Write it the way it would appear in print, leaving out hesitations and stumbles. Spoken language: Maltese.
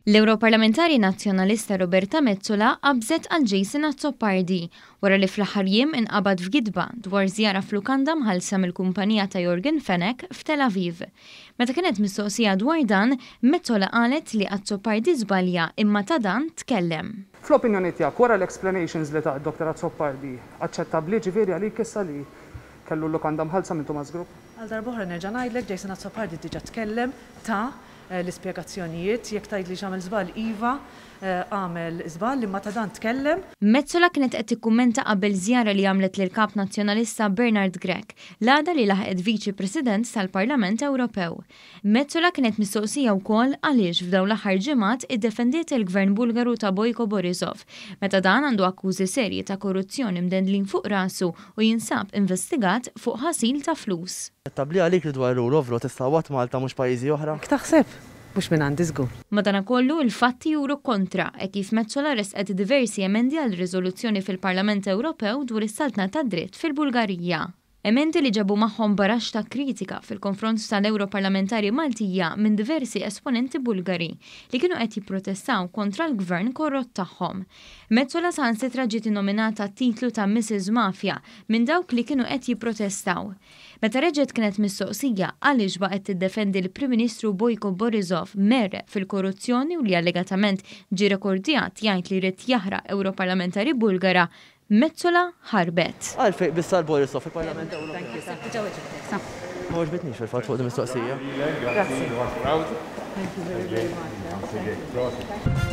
L-Ewroparlamentari Nazzjonalista Roberta Metsola qabżet għal Jason Azzopardi wara li fl-aħħar jiem inqabad f'gidba dwar żjara f'lukanda mħallsa mill-kumpanija ta' Yorgen Fenech f'Tel Aviv. Meta kienet mistoqsija dwar dan, Metsola qalet li Azzopardi żbalja imma ta' dan tkellem. Fl-opinjoni tiegħek, wara l-explanations li ta Dr Azzopardi, aċċettabbli ġifieri għalik issa li kellu l-lukanda mħallsa minn Tumas Group? Għal darb'oħra nerġa' ngħidlek, Jason Azzopardi diġà tkellem, ta l-ispjegazzjonijiet. Jekk tgħidli x'għamel żball, iva, għamel żball, imma ta' dan tkellem. Metsola kienet qed tikkummenta qabel żjara li għamlet lill-Kap Nazzjonalista Bernard Grech, l-għada li laħqet Viċi President tal-Parlament Ewropew. Metsola kienet mistoqsija wkoll għaliex f'dawn l-aħħar ġimgħat iddefendiet il-Gvern Bulgaru ta' Boyko Borisov, meta dan għandu akkużi serji ta' korruzzjoni mdendlin fuq rasu u jinsab investigat fuq ħasil ta' flus. Aċċettabbli għalik li dwar rule of law tistgħawwad Malta mhux pajjiżi oħra? Hekk taħseb? Mhux minn għandi żgur. Madanakollu, il-fatti juru kontra, hekk kif Metsola ressqet diversi emendi għal riżoluzzjoni fil-Parlament Ewropew dwar is-saltna tad-dritt fil-Bulgarija. Emendi li ġabu magħhom baraxx ta' kritika fil-konfront tal-Ewroparlamentari Maltija minn diversi esponenti Bulgari li kienu qed jipprotestaw kontra l-gvern korrott tagħhom. Metsola saħansitra ġiet innominata għat-titlu ta' Mrs Mafia minn dawk li kienu qed jipprotestaw. Meta reġgħet kienet mistoqsija għaliex baqgħet tiddefendi l-Prim Ministru Boyko Borisov mgħerreq fil-korruzzjoni u li allegatament ġie rekordjat jgħid li jrid jaħraq Ewroparlamentari Bulgara, Metsola ħarbet. Għalfejn biss għal Borisov fil-Parlament Ewropew? Ma għoġbitnix fil-fatt fuq din mistoqsija. Grazzi. Thank you very, very much.